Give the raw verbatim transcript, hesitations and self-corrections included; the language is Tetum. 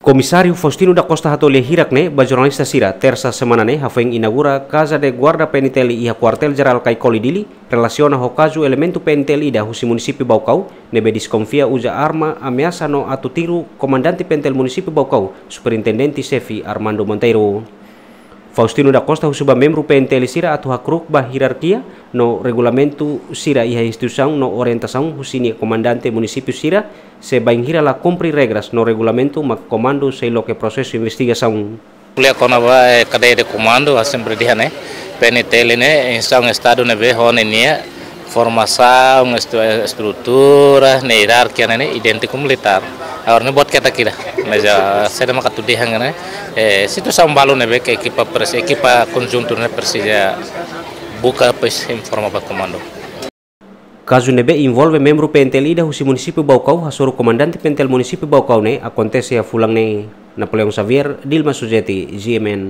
Komisáriu Faustino da Costa hato'o lia hirak ne'e ba jornalista sira, Tersa semana ne'e, hafoin inaugura Casa de Guarda P N T L iha Kuartél Jerál Caicoli, Dili, relasiona ho kazu elementu P N T L ida husi munisípiu Baucau, ne'ebé deskonfia uza arma ameasa no atu tiru Komandante P N T L Munisípiu Baucau, Superintendente Xefe Armando Monteiro. Faustino da Costa husu ba membru P N T L sira atu hakru'uk ba hierarkia no regulamentu sira iha instituisaun no orientasaun husi nia komandante munisípiu sira, se bainhira la kumpre regras no regulamentu mak komandu sei loke prosesu investigasaun. Ko'alia kona-ba, eh, kadeia de komandu, ha'u sempre dehan ne'e, P N T L ne'e instituisaun Estadu ne'ebé ho ninia formasaun, estu-, estrutura, ne'e hierarkia ne'e, ne'e idéntiku militár. Agora ne'e buat ketak ida. Mas, ah, saida mak atu dehan ne'e, eh, situasaun balu ne'ebé ke ekipa presi-, ekipa konjuntu ne'e presiza buka, depois informa ba komandu. Kazu ne'ebé envolve membru P N T L ida husi munisípiu Baucau, hasoru Komandante P N T L Munisípiu Baucau ne'e akontese iha fulan ne'e. Napoleão Xavier, Dilma Sujeti, G M N.